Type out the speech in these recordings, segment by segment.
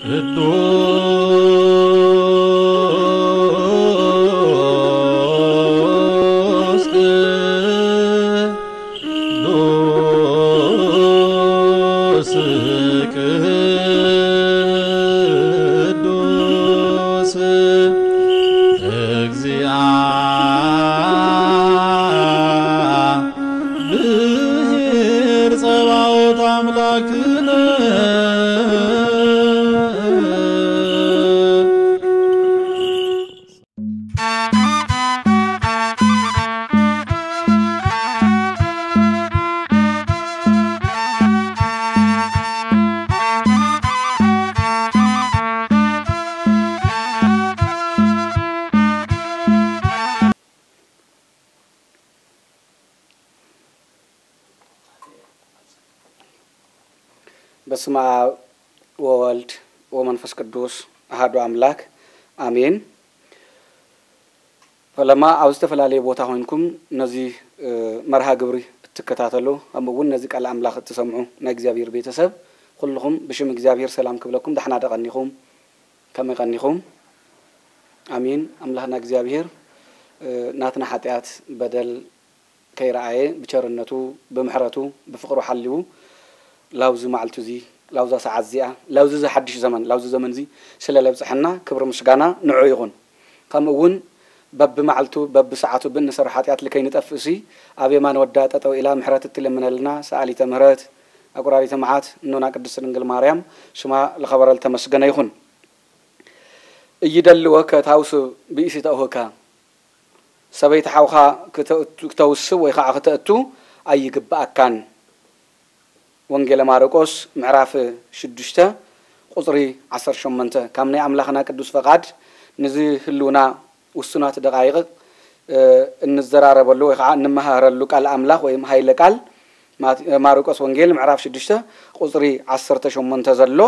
ቅዱስ ቅዱስ ቅዱስ እግዚአብሔር ጸባኦት አምላክነ። በስመ አብ ወወልድ ወመንፈስ ቅዱስ አሐዱ አምላክ አሜን። ፈለማ ኣብ ዝተፈላለየ ቦታ ኮይንኩም ነዚ መርሃ ግብሪ እትከታተሉ፣ ከምኡ እውን ነዚ ቃል ኣምላኽ እትሰምዑ ናይ እግዚኣብሔር ቤተሰብ ኩልኹም ብሽም እግዚኣብሔር ሰላም ክብለኩም። ዳሕና ደቐኒኹም፣ ከመይ ቀኒኹም? ኣሜን። ኣምላኽና እግዚኣብሔር ናትና ሓጢኣት በደል ከይረኣየ ብቸርነቱ፣ ብምሕረቱ፣ ብፍቕሩ ሓልዩ ላውዚ መዓልቱ እዚ፣ ላውዛ ሰዓት እዚኣ፣ ላውዚ እዚ ሓድሽ ዘመን፣ ላውዚ ዘመን እዚ ስለ ለብፅሐና ክብሪ ምስጋና ንዑ ይኹን። ከምኡ እውን በብመዓልቱ በብሰዓቱ ብእንሰርሖ ሓጢኣት ልከይንጠፍእሲ ኣብ የማን ወዳ ጠጠው ኢላ ምሕረት እትልምነልና ሰኣሊተ ምሕረት ኣቁራሪተ መዓት እኖና ቅድስት ድንግል ማርያም ሽማ ልኸበረ ልተመስገነ ይኹን። እይደልወከ ታውስብ ብእሲ ተእሁካ፣ ሰበይቲ ሓውኻ ክተውስብ ወይ ከዓ ክተእቱ ኣይግብኣካን። ወንጌለ ማርቆስ ምዕራፍ ሽዱሽተ ቁፅሪ ዓሰርተ ሸሞንተ። ካብ ናይ ኣምላኽና ቅዱስ ፈቓድ ንዚ ህልውና ውሱናት ደቓይቕ እንዘራረበሉ ወይ ከዓ እንመሃረሉ ቃል ኣምላኽ ወይም ሃይለ ቃል ማርቆስ ወንጌል ምዕራፍ ሽዱሽተ ቁፅሪ ዓሰርተ ሸሞንተ ዘሎ።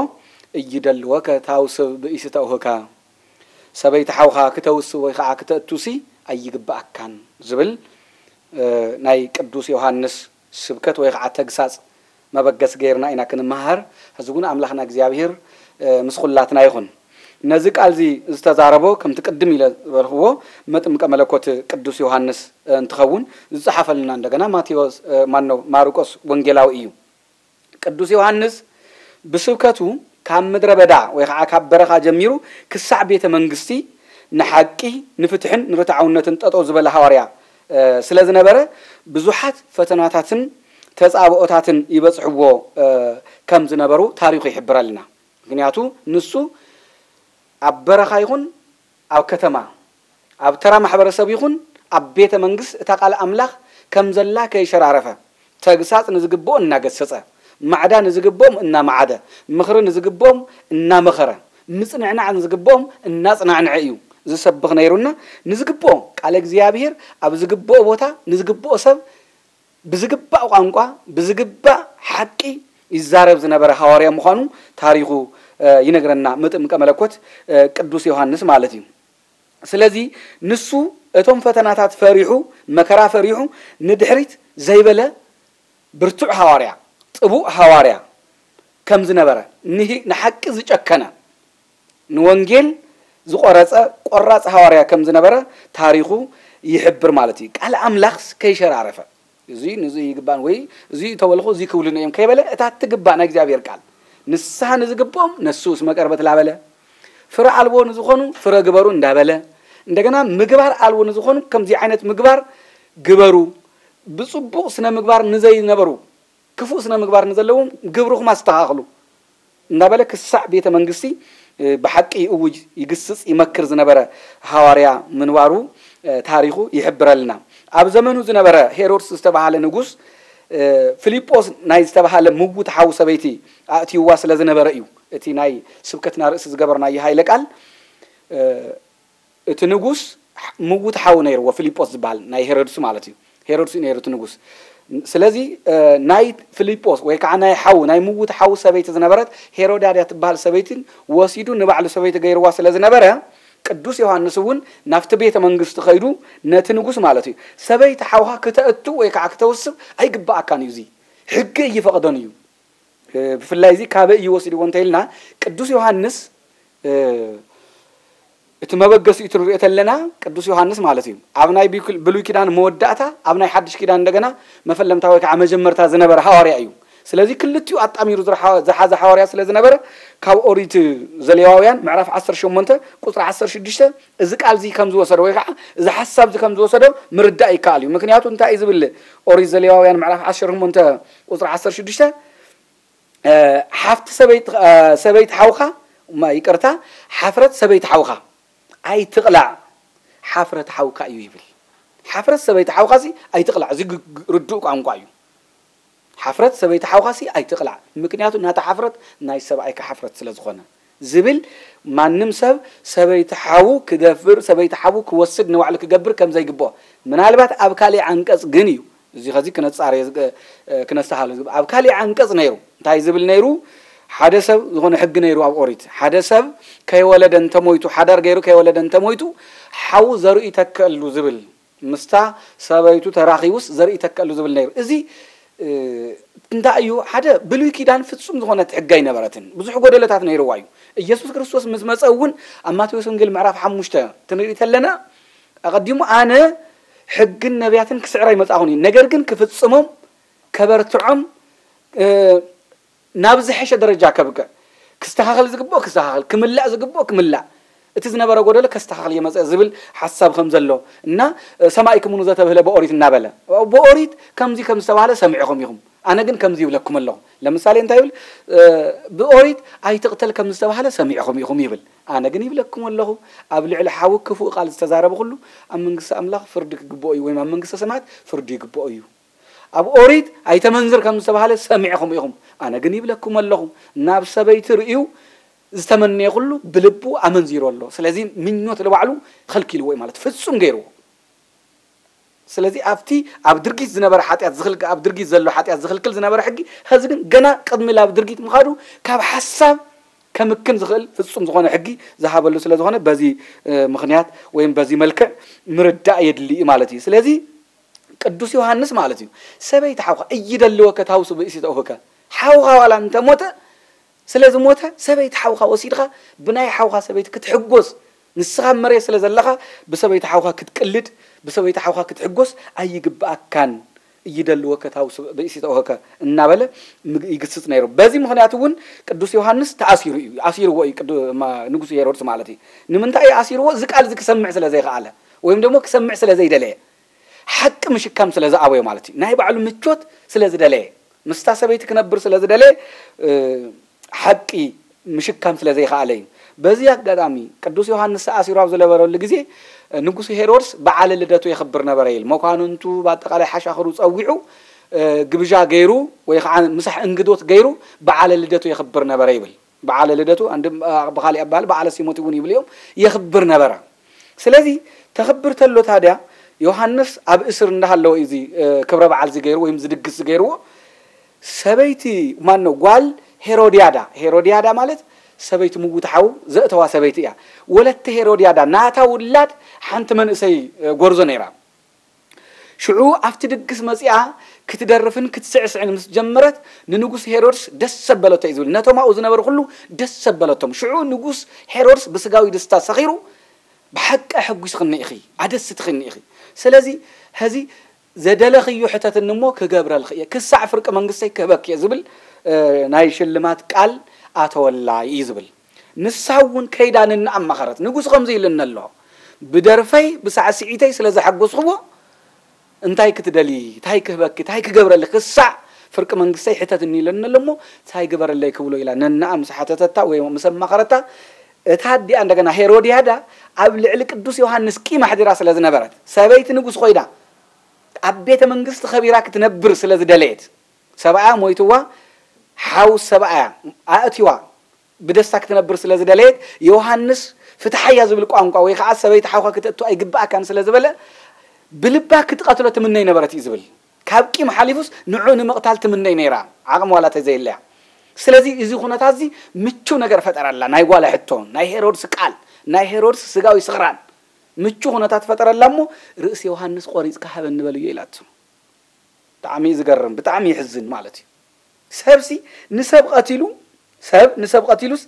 እይደልወከ ታውስብ ብእሲ ተእሁካ፣ ሰበይቲ ሓውኻ ክተውስብ ወይ ከዓ ክተእቱሲ ኣይግብኣካን ዝብል ናይ ቅዱስ ዮሃንስ ስብከት ወይ ከዓ ተግሳፅ መበገስ ገይርና ኢና ክንመሃር። ሕዚ እውን ኣምላኽና እግዚኣብሔር ምስ ኩላትና ይኹን። ነዚ ቃል እዚ ዝተዛረቦ ከምቲ ቅድም ኢለ ዝበልኽዎ መጥምቀ መለኮት ቅዱስ ዮሃንስ እንትኸውን ዝፀሓፈልና እንደገና ማቴዎስ ማነው ማርቆስ ወንጌላዊ እዩ። ቅዱስ ዮሃንስ ብስብከቱ ካብ ምድረ በዳ ወይ ከዓ ካብ በረኻ ጀሚሩ ክሳዕ ቤተ መንግስቲ ንሓቂ ንፍትሕን ንርትዓውነትን ጠጠው ዝበለ ሃዋርያ ስለ ዝነበረ ብዙሓት ፈተናታትን ተፃብኦታትን ይበፅሕዎ ከም ዝነበሩ ታሪኹ ይሕብረልና። ምክንያቱ ንሱ ኣብ በረኻ ይኹን ኣብ ከተማ ኣብ ተራ ማሕበረሰብ ይኹን ኣብ ቤተ መንግስት እታ ቃል ኣምላኽ ከም ዘላ ከይሸራረፈ ተግሳፅ ንዝግብኦ እናገሰፀ ማዕዳ ንዝግብኦም እናማዓደ ምኽሪ ንዝግብኦም እናመኸረ ምፅንዕናዕ ንዝግብኦም እናፅናዕንዐ እዩ ዝሰብኽ ነይሩና። ንዝግብኦ ቃለ እግዚኣብሔር ኣብ ዝግብኦ ቦታ ንዝግብኦ ሰብ ብዝግባእ ቋንቋ ብዝግባእ ሓቂ ይዛረብ ዝነበረ ሃዋርያ ምዃኑ ታሪኹ ይነግረና። መጥምቀ መለኮት ቅዱስ ዮሃንስ ማለት እዩ። ስለዚ ንሱ እቶም ፈተናታት ፈሪሑ መከራ ፈሪሑ ንድሕሪት ዘይበለ ብርቱዕ ሃዋርያ ጥቡእ ሃዋርያ ከም ዝነበረ ንሓቂ ዝጨከነ ንወንጌል ዝቆረፀ ቆራፅ ሃዋርያ ከም ዝነበረ ታሪኹ ይሕብር ማለት እዩ። ቃል ኣምላኽ ከይሸራረፈ እዚ ንዚ ይግባን ወይ እዚ ተበልኹ እዚ ክብሉን እዮም ከይበለ እታ ትግባእ ናይ እግዚኣብሔር ቃል ንስሓ ንዝግብኦም ነሱ እስመ ቀርበት ላበለ ፍረ ኣልቦ ንዝኾኑ ፍረ ግበሩ እንዳበለ እንደገና ምግባር ኣልቦ ንዝኾኑ ከምዚ ዓይነት ምግባር ግበሩ ብፅቡቕ ስነ ምግባር ንዘይነበሩ ክፉእ ስነ ምግባር ንዘለዎም ግብርኹም ኣስተኻኽሉ እናበለ ክሳዕ ቤተ መንግስቲ ብሓቂ ይእውጅ ይግስፅ ይመክር ዝነበረ ሃዋርያ ምንባሩ ታሪኹ ይሕብረልና። ኣብ ዘመኑ ዝነበረ ሄሮድስ ዝተባሃለ ንጉስ ፊልጶስ ናይ ዝተባሃለ ምውት ሓው ሰበይቲ ኣእትይዋ ስለ ዝነበረ እዩ እቲ ናይ ስብከትና ርእሲ ዝገበርናዮ ሃይለ ቃል እቲ ንጉስ ምውት ሓው ነይርዎ ፊልጶስ ዝበሃል ናይ ሄሮድስ ማለት እዩ። ሄሮድስ እዩ ነይሩ እቲ ንጉስ። ስለዚ ናይ ፊልጶስ ወይ ከዓ ናይ ሓው ናይ ምውት ሓው ሰበይቲ ዝነበረት ሄሮዳድያ ትበሃል ሰበይትን ወሲዱ ንባዕሉ ሰበይቲ ገይርዋ ስለ ዝነበረ ቅዱስ ዮሃንስ እውን ናብቲ ቤተ መንግስቲ ከይዱ ነቲ ንጉስ ማለት እዩ ሰበይቲ ሓውካ ክተእቱ ወይ ከዓ ክተውስብ ኣይግባኣካን እዩ፣ እዚ ሕጊ እይፈቕዶን እዩ። ብፍላይ እዚ ካበይ እዩ ወሲድዎ እንተኢልና፣ ቅዱስ ዮሃንስ እቲ መበገሲኡ እቲ ንሪኦ ተለና ቅዱስ ዮሃንስ ማለት እዩ። ኣብ ናይ ብሉይ ኪዳን መወዳእታ፣ ኣብ ናይ ሓድሽ ኪዳን እንደገና መፈለምታ ወይ ከዓ መጀመርታ ዝነበረ ሃዋርያ እዩ። ስለዚ ክልቲኡ ኣጣሚሩ ዝሓዘ ሃዋርያ ስለ ዝነበረ፣ ካብ ኦሪት ዘሌዋውያን ምዕራፍ ዓሰርተ ሸሞንተ ቁፅሪ ዓሰርተ ሽዱሽተ እዚ ቃል እዚ ከም ዝወሰዶ ወይ ከዓ እዚ ሓሳብ እዚ ከም ዝወሰዶ ምርዳእ ይከኣል እዩ። ምክንያቱ እንታይ እዩ ዝብል? ኦሪት ዘሌዋውያን ምዕራፍ ዓሰርተ ሸሞንተ ቁፅሪ ዓሰርተ ሽዱሽተ፣ ሓፍቲ ሰበይቲ ሓውካ፣ ይቅርታ፣ ሓፍረት ሰበይቲ ሓውካ ኣይትቕላዕ፣ ሓፍረት ሓውካ እዩ ይብል። ሓፍረት ሰበይቲ ሓውካ ሲ ኣይትቕላዕ። እዚ ርዱእ ቋንቋ እዩ። ሓፍረት ሰበይቲ ሓውካ ሲ ኣይትቕላዕ፣ ምክንያቱ ናታ ሓፍረት ናይ ሰብኣይካ ሓፍረት ስለ ዝኾነ ዝብል፣ ማንም ሰብ ሰበይቲ ሓዉ ክደፍር፣ ሰበይቲ ሓዉ ክወስድ፣ ንባዕሉ ክገብር ከም ዘይግብኦ፣ ምናልባት ኣብ ካሊእ ዓንቀጽ ግን እዩ፣ እዚ ኸዚ ክነጻረዮ ዝግ-፣ እ፣ ክነስተሃሎ ዝግብ-፣ ኣብ ካሊእ ዓንቀጽ ነይሩ። እንታይ ዝብል ነይሩ? ሓደ ሰብ ዝኾነ ሕጊ ነይሩ ኣብ ኦሪት። ሓደ ሰብ ከይወለደ እንተሞይቱ፣ ሓዳር ገይሩ ከይወለደ እንተሞይቱ፣ ሓዉ ዘርኡ ይተክአሉ ዝብል፣ ምስታ ሰበይቱ ተራኺቡስ ዘርኡ ይተክአሉ ዝብል ነይሩ። እዚ፣ እ፣ እንታይ እዩ? ሓደ ብሉይ ኪዳን ፍጹም ዝኾነት ሕጊ ኣይነበረትን። ብዙሕ ጎደለታት ነይርዋ እዩ። ኢየሱስ ክርስቶስ ምስ መጸ እውን ኣብ ማቴዎስ ወንጌል ምዕራፍ ሓሙሽተ ትንርኢ ተለና፣ ኣቐዲሙ ኣነ ሕግን ነቢያትን ክስዕር ኣይመጻኹን እዩ፣ ነገር ግን ክፍጽሞም፣ ከበርትዖም፣ እ፣ ናብ ዝሐሸ ደረጃ ከብቅዕ፣ ክስተኻኸል ዝግብኦ ክስተኻኸል፣ ክምላእ ዝግብኦ ክምላእ፣ እቲ ዝነበረ ጎደሎ ከስተኻኸል እየ መጸ ዝብል ሓሳብ ከም ዘሎ እና፣ እ፣ ሰማዕኩሙኑ ዘተብህለ ብኦሪት እናበለ፣ ብኦሪት ከምዚ ከም ዝተባህለ ሰሚዕኹም ኢኹም፣ ኣነ ግን ከምዚ ይብለኩም ኣለኹ። ለምሳሌ እንታይ ይብል? እ፣ ብኦሪት ኣይትቕተል ከም ዝተባህለ ሰሚዕኹም ኢኹም ይብል፣ ኣነ ግን ይብለኩም ኣለኹ፣ ኣብ ልዕሊ ሓዊ ክፉእ ቃል ዝተዛረበ ኩሉ ኣብ መንግስቲ ኣምላኽ ፍርዲ ክግብኦ እዩ፣ ወይም ኣብ መንግስተ ሰማያት ፍርዲ ይግብኦ እዩ። ኣብ ኦሪት ኣይተመንዝር ከም ዝተባህለ ሰሚዕኹም ኢኹም፣ ኣነ ግን ይብለኩም ኣለኹ፣ ናብ ሰበይቲ ርእዩ ዝተመነየ ኩሉ ብልቡ ኣመንዚሩ ኣሎ። ስለዚ ምኞት ንባዕሉ ኸልኪልዎ እዩ ማለት ፍጹም ገይርዎ። ስለዚ ኣብቲ ኣብ ድርጊት ዝነበረ ሓጢኣት ዝኽልክ-፣ ኣብ ድርጊት ዘሎ ሓጢኣት ዝኽልክል ዝነበረ ሕጊ፣ ኸዚ ግን ገና ቅድሚ ላብ ድርጊት ምኻዱ ካብ ሓሳብ ከምክን ዝኽእል ፍጹም ዝኾነ ሕጊ ዝሃበሉ ስለ ዝኾነ በዚ፣ እ፣ ምኽንያት ወይም በዚ መልክዕ ምርዳእ የድሊ እዩ ማለት እዩ። ስለዚ ቅዱስ ዮሃንስ ማለት እዩ፣ ሰበይቲ ሓውካ እይደልወከ ታውሱ ብእሲተ ኡህከ፣ ሓውኻ ዋላ እንተሞተ፣ ስለ ዝሞተ ሰበይቲ ሓውካ ወሲድኻ ብናይ ሓውካ ሰበይቲ ክትሕጎስ፣ ንስኻ ኣብ መሬት ስለ ዘለኻ ብሰበይቲ ሓውካ ክትቅልድ፣ ብሰበይቲ ሓውካ ክትሕጎስ ኣይግብኣካን። እይደልወከ ታውሱ ብእሲተ ኡህከ እናበለ ምግ-፣ ይግስጽ ነይሩ። በዚ ምኽንያት እውን ቅዱስ ዮሃንስ ተኣሲሩ እዩ፣ ኣሲርዎ እዩ ቅዱ-፣ ማ-፣ ንጉስ ሄሮድስ ማለት እዩ። ንምንታይ እዩ ኣሲርዎ? እዚ ቃል እዚ ክሰምዕ ስለ ዘይከኣለ ወይም ደግሞ ክሰምዕ ስለ ዘይደለየ፣ ሓቂ ምሽካም ስለ ዝኣበዮ ማለት እዩ። ናይ ባዕሉ ምቾት ስለ ዝደለየ፣ ምስታ ሰበይቲ ክነብር ስለ ዝደለየ፣ እ፣ ሓቂ ምሽካም ስለ ዘይከኣለ እዩ። በዚ ኣጋጣሚ ቅዱስ ዮሃንስ ተኣሲሩ ኣብ ዝነበረሉ ግዜ፣ እ፣ ንጉስ ሄሮድስ በዓለ ልደቱ የኽብር ነበረ ይብል። መኳንንቱ፣ ብኣጠቓላይ ሓሻኽሩ ጸዊዑ፣ እ፣ ግብዣ ገይሩ ወይ ከዓ ምሳሕ እንግዶት ገይሩ በዓለ ልደቱ የኽብር ነበረ ይብል። በዓለ ልደቱ፣ ኣንድ-፣ እ፣ ብኻሊእ ኣባል በዓለ ሲሞት እውን ይብል እዮም፣ የኽብር ነበረ። ስለዚ ተኽብር ተሎ ታድያ ዮሃንስ ኣብ እስር እንዳሃለወ እዩ እዚ፣ እ፣ ክብረ በዓል እዚ ገይሩ ወይም ዝድግስ ዝገይርዎ። ሰበይቲ ማነው? ጓል ሄሮድያዳ። ሄሮድያዳ ማለት ሰበይቲ ምውት ሓው ዘእተዋ ሰበይቲ እያ። ወለተ ሄሮድያዳ ናታ ውላድ ሓንቲ መንእሰይ፣ እ፣ ጎርዞ ነይራ። ሽዑ ኣብቲ ድግስ መጺኣ ክትደርፍን ክትስዕስዕን ምስ ጀመረት፣ ንንጉስ ሄሮድስ ደስ ዘበለቶ እዩ ዝብል። ነቶም ኣብኡ ዝነበሩ ኩሉ ደስ ዘበለቶም። ሽዑ ንጉስ ሄሮድስ ብስጋዊ ደስታ ሰኺሩ፣ "ብሓቂ ኣሐጒስኽኒ ኢኺ፣ ኣደስትኽኒ ኢኺ። ስለዚ፣ ሐዚ ዘደለኽዮ ሕተትኒ እሞ ክገብረልኺ እየ፣ ክሳዕ ፍርቂ መንግስተይ ክህበኪ እየ" ዝብል፣ እ፣ ናይ ሽልማት ቃል ኣተወላ እዩ ዝብል። ንሳ እውን ከይዳ ነንኣ ኣማኸረት። ንጉስ ከምዚ ኢሉኒ ኣሎ፣ ብደርፈይ ብሳዕስዒተይ ስለ ዘሐጎስኽዎ እንታይ ክትደሊ፣ እንታይ ክህበኪ፣ እንታይ ክገብረልኪ፣ ክሳዕ ፍርቂ መንግስተይ ሕተትኒ ኢሉኒ ኣሎ እሞ እንታይ ግበረለይ ክብሎ ኢላ ነንኣ ምስ ሓተተታ ወይ ምስ ኣማኸረታ፣ እታ ኣዲኣ እንደገና ሄሮድያዳ ኣብ ልዕሊ ቅዱስ ዮሃንስ ቂም ኣሕዲራ ስለ ዝነበረት፣ ሰበይቲ ንጉስ ኮይና ኣብ ቤተ መንግስቲ ኸቢራ ክትነብር ስለ ዝደለየት፣ ሰብኣያ ሞይትዋ፣ ሓው ሰብኣያ ኣእትዋ ብደስታ ክትነብር ስለ ዝደለየት፣ ዮሃንስ ፍትሓያ ዝብል ቋንቋ ወይ ከዓ ሰበይቲ ሓውካ ክተእቱ ኣይግብኣካን ስለ ዝበለ፣ ብልባ ክትቐትሎ ትምነይ ነበረት እዩ ዝብል። ካብ ቂም ሓሊፉስ ንዑ ንምቕታል ትምነይ ነይራ፣ ዓቕሚ ዋላ ተዘየለያ። ስለዚ እዚ ኩነታት እዚ ምቹው ነገር ፈጠረላ። ናይ ጓላ ሕቶ፣ ናይ ሄሮድስ ቃል፣ ናይ ሄሮድስ ስጋዊ ስኽራን ምቹው ኩነታት ፈጠረላ እሞ፣ "ርእሲ ዮሃንስ ቆሪጽካ ሃበኒ በልዮ" ኢላቶ። ብጣዕሚ እዩ ዝገርም፣ ብጣዕሚ ይሕዝን ማለት እዩ። ሰብሲ ንሰብ ቀቲሉ፣ ሰብ ንሰብ ቀቲሉስ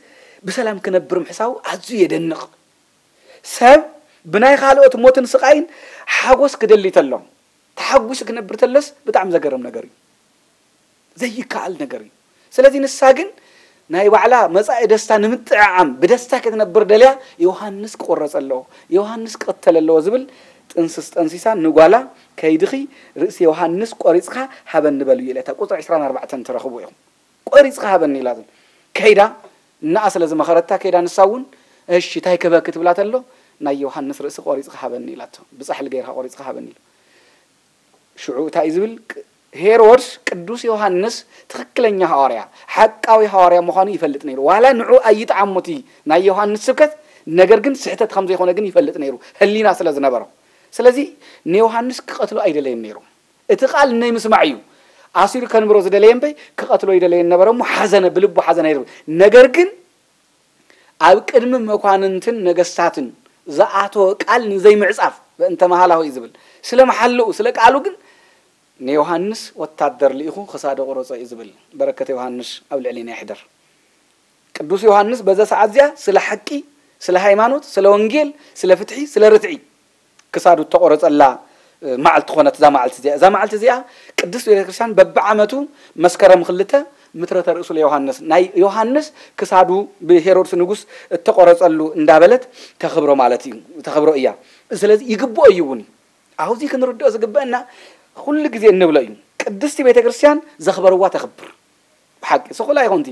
ብሰላም ክነብር ምሕሳቡ ኣዝዩ የደንቕ። ሰብ ብናይ ካልኦት ሞትን ስቓይን ሓጎስ ክደሊ ተሎ፣ ተሓጒሱ ክነብር ተሎስ ብጣዕሚ ዘገርም ነገር እዩ። ዘይከኣል ነገር እዩ። ስለዚ ንሳ ግን ናይ ባዕላ መጻኢ ደስታ ንምጥዕዓም ብደስታ ክትነብር ደልያ ዮሃንስ ክቑረጽ ኣለዎ፣ ዮሃንስ ክቕተል ኣለዎ ዝብል ጥንስስ ጠንሲሳ ንጓላ ከይድኺ ርእሲ ዮሃንስ ቆሪጽኻ ሃበኒ በልዮ ኢለታ። ቁጽሪ ዕስራን ኣርባዕተን ትረኽቡ ኢኹም። ቆሪጽኻ ሃበኒ ኢላቶ። ከይዳ እናኣ ስለ ዝመኸረታ ከይዳ ንሳ እውን እሺ እንታይ ክበኪ ትብላ ተሎ ናይ ዮሃንስ ርእሲ ቆሪጽኻ ሃበኒ ኢላቶ። ብጻሕሊ ገይርካ ቆሪጽኻ ሃበኒ ኢሉ። ሽዑ እንታይ እዩ ዝብል? ቅ- ሄሮድስ ቅዱስ ዮሃንስ ትኽክለኛ ሃዋርያ፣ ሓቃዊ ሃዋርያ ምዃኑ ይፈልጥ ነይሩ። ዋላ ንዑ ኣይጥዓሞ እቲ ናይ ዮሃንስ ስብከት፣ ነገር ግን ስሕተት ከም ዘይኮነ ግን ይፈልጥ ነይሩ፣ ህሊና ስለ ዝነበሮ። ስለዚ ንዮሃንስ ክቐትሎ ኣይደለየን ነይሩ። እቲ ቃል ናይ ምስማዕ እዩ ኣሲሩ ከንብሮ ዝደለየ እምበይ ክቐትሎ ይደለየ ነበረ እሞ ሓዘነ፣ ብልቡ ሓዘነ ይብል። ነገር ግን ኣብ ቅድሚ መኳንንትን ነገስታትን ዝኣተወ ቃል ንዘይምዕጻፍ በእንተ መሃላሁ እዩ ዝብል። ስለ መሓልኡ፣ ስለ ቃሉ ግን ንዮሃንስ ወታደር ልኢኹ ክሳዶ ቁረጾ እዩ ዝብል። በረከት ዮሃንስ ኣብ ልዕሊና ይሕደር። ቅዱስ ዮሃንስ በዛ ሰዓት እዚኣ ስለ ሓቂ፣ ስለ ሃይማኖት፣ ስለ ወንጌል፣ ስለ ፍትሒ፣ ስለ ርትዒ ክሳዱ እተቆረጸላ፣ እ፣ መዓልቲ ኮነት እዛ መዓልቲ እዚኣ። እዛ መዓልቲ እዚኣ ቅድስት ቤተክርስትያን በብዓመቱ መስከረም ክልተ ምትረተ ርእሱ ለዮሃንስ፣ ናይ ዮሃንስ ክሳዱ ብሄሮድስ ንጉስ እተቆረጸሉ እንዳበለት ተኽብሮ ማለት እዩ፣ ተኽብሮ እያ። ስለዚ ይግብኦ እዩ እውን እዩ። ኣብዚ ክንርድኦ ዝግበአና ኩሉ ግዜ እንብሎ እዩ። ቅድስቲ ቤተክርስትያን ዘኽበርዋ ተኽብር። ብሓቂ ስኹል ኣይኾንቲ።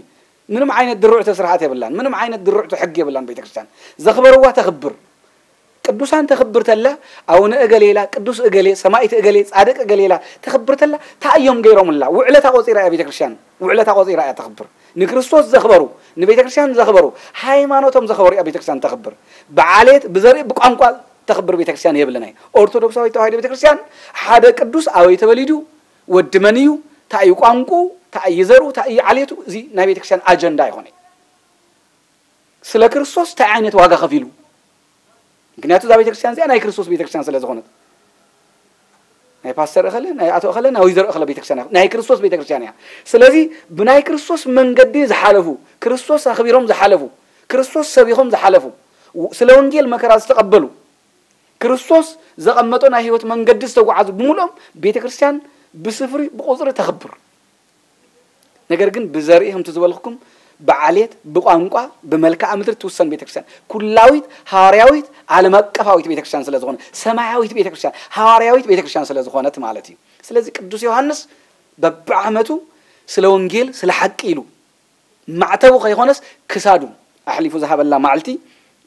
ምንም ዓይነት ድርዕቶ ስርዓት የብላን፣ ምንም ዓይነት ድርዕቶ ሕጊ የብላን ቤተክርስትያን። ዘኽበርዋ ተኽብር። ቅዱሳን ተኽብር ተላ፣ ኣቡነ እገሌ ኢላ፣ ቅዱስ እገሌ፣ ሰማይት እገሌ፣ ጻድቅ እገሌ ኢላ ተኽብር ተላ፣ እንታይ እዮም ገይሮምላ? ውዕለታ ቆጺራ እያ ቤተክርስትያን፣ ውዕለታ ቆጺራ እያ ተኽብር። ንክርስቶስ ዘኽበሩ፣ ንቤተክርስትያን ዘኽበሩ፣ ሃይማኖቶም ዘኽበሩ እያ ቤተክርስትያን ተኽብር። ብዓሌት፣ ብዘርኢ፣ ብቋንቋ ተኽብር ቤተክርስትያን የብልናይ። ኦርቶዶክሳዊት ተዋህዶ ቤተክርስትያን ሓደ ቅዱስ ኣበይ ተወሊዱ፣ ወዲ መን እዩ፣ እንታይ እዩ ቋንቁ፣ እንታይ እዩ ዘርኡ፣ እንታይ እዩ ዓሌቱ፣ እዚ ናይ ቤተክርስትያን ኣጀንዳ ኣይኾነ። ስለ ክርስቶስ እንታይ ዓይነት ዋጋ ከፊሉ? ምክንያቱ እዛ ቤተክርስትያን እዚኣ ናይ ክርስቶስ ቤተክርስትያን ስለ ዝኾነት። ናይ ፓስተር እኸለ፣ ናይ ኣቶ እኸለ፣ ናይ ወይዘሮ እኸለ ቤተክርስትያን እያ። ናይ ክርስቶስ ቤተክርስትያን እያ። ስለዚ ብናይ ክርስቶስ መንገዲ ዝሓለፉ፣ ክርስቶስ ኣኽቢሮም ዝሓለፉ፣ ክርስቶስ ሰቢኾም ዝሓለፉ፣ ው-፣ ስለ ወንጌል መከራ ዝተቐበሉ፣ ክርስቶስ ዘቐመጦ ናይ ህይወት መንገዲ ዝተጓዓዙ ብምሉኦም ቤተክርስትያን ብስፍሪ ብቁጽሪ ተኽብር። ነገር ግን ብዘርኢ ከምቲ ዝበልኩኩም ብዓሌት፣ ብቋንቋ፣ ብመልክዓ ምድሪ ትውሰን ቤተክርስትያን፣ ኩላዊት፣ ሃዋርያዊት፣ ዓለም ኣቀፋዊት ቤተክርስትያን ስለ ዝኾነ፣ ሰማያዊት ቤተክርስትያን፣ ሃዋርያዊት ቤተክርስትያን ስለ ዝኾነት ማለት እዩ። ስለዚ ቅዱስ ዮሃንስ በብዓመቱ ስለ ወንጌል፣ ስለ ሓቂ ኢሉ ማዕተቡ ከይኾነስ ክሳዱ ኣሕሊፉ ዝሃበላ መዓልቲ፣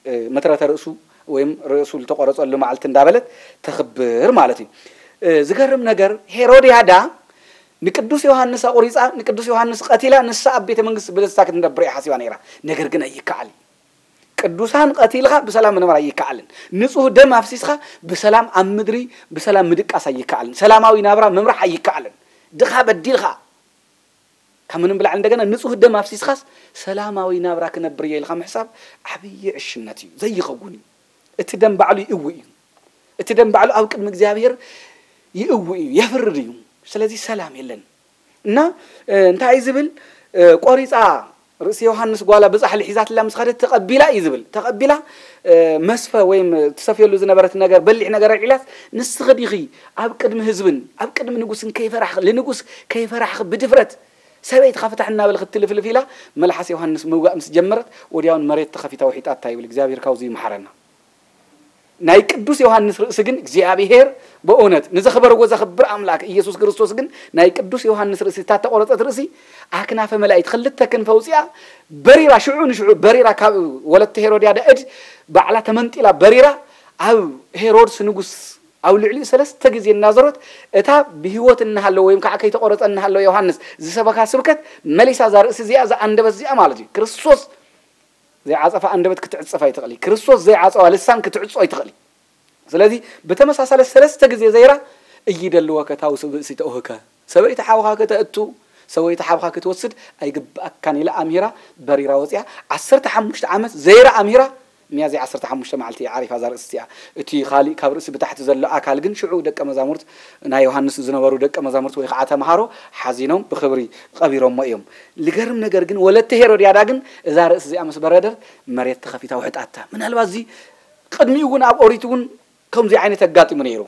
እ፣ መትረተ ርእሱ ወይም ርእሱ ዝተቆረጸሉ መዓልቲ እንዳበለት ተኽብር ማለት እዩ። እ፣ ዝገርም ነገር ሄሮድያዳ ንቅዱስ ዮሃንስ ኣቑሪጻ፣ ንቅዱስ ዮሃንስ ቀቲላ፣ ንሳ ኣብ ቤተ መንግስቲ ብደስታ ክትነብር እያ ሓሲባ ነይራ። ነገር ግን ኣይከኣል እዩ። ቅዱሳን ቀቲልኻ ብሰላም ምንባር ኣይከኣልን። ንጹህ ደም ኣፍሲስኻ ብሰላም ኣብ ምድሪ ብሰላም ምድቃስ ኣይከኣልን። ሰላማዊ ናብራ ምምራሕ ኣይከኣልን። ድኻ በዲልኻ ካብ ምንም ብላዕሊ እንደገና ንጹህ ደም ኣፍሲስኻስ ሰላማዊ ናብራ ክነብር እየ ኢልካ ምሕሳብ ዓብዪ ዕሽነት እዩ፣ ዘይኸውን እዩ። እቲ ደም ባዕሉ ይእዊ እዩ። እቲ ደም ባዕሉ ኣብ ቅድሚ እግዚኣብሔር ይእዊ እዩ፣ የፍርድ እዩ። ስለዚ ሰላም የለን። እና፣ እ፣ እንታይ እዩ ዝብል? እ፣ ቆሪጻ ርእሲ ዮሃንስ ጓላ ብጻሕሊ ሒዛትላ ምስ ኸደት ተቐቢላ እዩ ዝብል። ተቐቢላ፣ እ፣ መስፈ ወይም ትሰፍየሉ ዝነበረት ነገር፣ በሊሕ ነገር ኣልዒላስ፣ ንስኺ ዲኺ ኣብ ቅድሚ ህዝብን ኣብ ቅድሚ ንጉስን ከይፈራሕኺ፣ ልንጉስ ከይፈራሕኺ ብድፍረት ሰበይትኻ ፍታሕ እናበልኺ ትልፍልፍ ኢላ መልሓስ ዮሃንስ ምውጋእ ምስ ጀመረት፣ ወዲያውን መሬት ተኸፊታ ውሒጣታ ይብል። እግዚኣብሔር ካብዚ ይምሓረና። ናይ ቅዱስ ዮሃንስ ርእሲ ግን እግዚኣብሔር ብእውነት ንዘኽበርዎ ዘኽብር ኣምላክ ኢየሱስ ክርስቶስ ግን ናይ ቅዱስ ዮሃንስ ርእሲ፣ እታ ተቆረጸት ርእሲ ኣክናፈ መላእክት ክልተ ክንፈ ውፅኣ በሪራ፣ ሽዑ ንሽዑ በሪራ ካብ ወለተ ሄሮድያዳ እድ ባዕላ ተመንጢላ በሪራ ኣብ ሄሮድስ ንጉስ ኣብ ልዕሊኡ ሰለስተ ግዜ እናዞረት እታ ብህይወት እናሃለወ ወይም ከዓ ከይተቆረጸ እናሃለወ ዮሃንስ ዝሰበካ ስብከት መሊሳ እዛ ርእሲ እዚኣ፣ እዛ ኣንደበት እዚኣ ማለት እዩ። ክርስቶስ ዘይዓጸፋ ኣንደበት ክትዕጸፍ ኣይትኽእል። ክርስቶስ ዘይዓጸዋ ልሳን ክትዕጾ ኣይትኽእል። ስለዚ ብተመሳሳለ ሰለስተ ግዜ ዘይራ እይደልወከ ታውስ ብእሲ ተውህከ፣ ሰበይቲ ሓውኻ ከተእቱ፣ ሰበይቲ ሓብኻ ክትወስድ ኣይግብኣካን ኢላ ኣምሂራ በሪራ ወፂኣ። ዓሰርተ ሓሙሽተ ዓመት ዘይራ ኣምሂራ ሚያዝያ ዓሰርተ ሓሙሽተ መዓልቲ እያ ዓሪፋ እዛ ርእሲ እዚኣ። እቲ ኻሊእ ካብ ርእሲ ብታሕቲ ዘሎ ኣካል ግን ሽዑ ደቀ መዛሙርት ናይ ዮሃንስ ዝነበሩ ደቀ መዛሙርት ወይ ከዓ ተምሃሮ ሓዚኖም ብኽብሪ ቀቢሮሞ እዮም። ልገርም ነገር ግን ወለተ ሄሮድያዳ ግን እዛ ርእሲ እዚኣ ምስ በረደር መሬት ተኸፊታ ውሕጣታ። ምናልባት እዚ ቅድሚኡ እውን ኣብ ኦሪት እውን ከምዚ ዓይነት ኣጋጢሙ ነይሩ።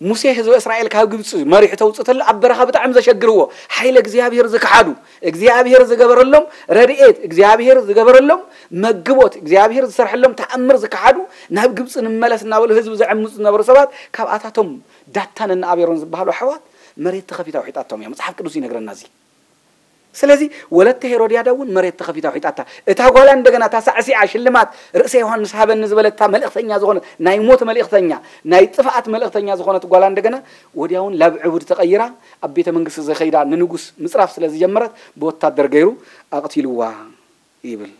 ሙሴ ህዝቢ እስራኤል ካብ ግብፂ መሪሑ ተውፅእ ተሎ ኣብ በረኻ ብጣዕሚ ዘሸግርዎ ሓይለ እግዚኣብሔር ዝከሓዱ እግዚኣብሔር ዝገበረሎም ረድኤት እግዚኣብሔር ዝገበረሎም መግቦት እግዚኣብሔር ዝሰርሐሎም ተኣምር ዝከሓዱ ናብ ግብፂ ንመለስ እናበሉ ህዝቢ ዘዕምፁ ዝነበሩ ሰባት ካብኣታቶም ዳታን እና ኣቤሮን ዝበሃሉ ኣሕዋት መሬት ተኸፊታ ውሒጣቶም እያ። መፅሓፍ ቅዱስ ይነግረና እዚ። ስለዚ ወለተ ሄሮድያዳ እውን መሬት ተኸፊታ ውሒጣታ። እታ ጓላ እንደገና እታ ሳዕሲዓ ሽልማት ርእሰ ዮሃንስ ሃበኒ ዝበለታ መልእኽተኛ ዝኾነት ናይ ሞት መልእኽተኛ ናይ ጥፍኣት መልእኽተኛ ዝኾነት ጓላ እንደገና ወዲያውን ላብ ዕቡድ ተቐይራ ኣብ ቤተ መንግስቲ ዘኸይዳ ንንጉስ ምፅራፍ ስለ ዝጀመረት ብወታደር ገይሩ ኣቕቲልዋ ይብል።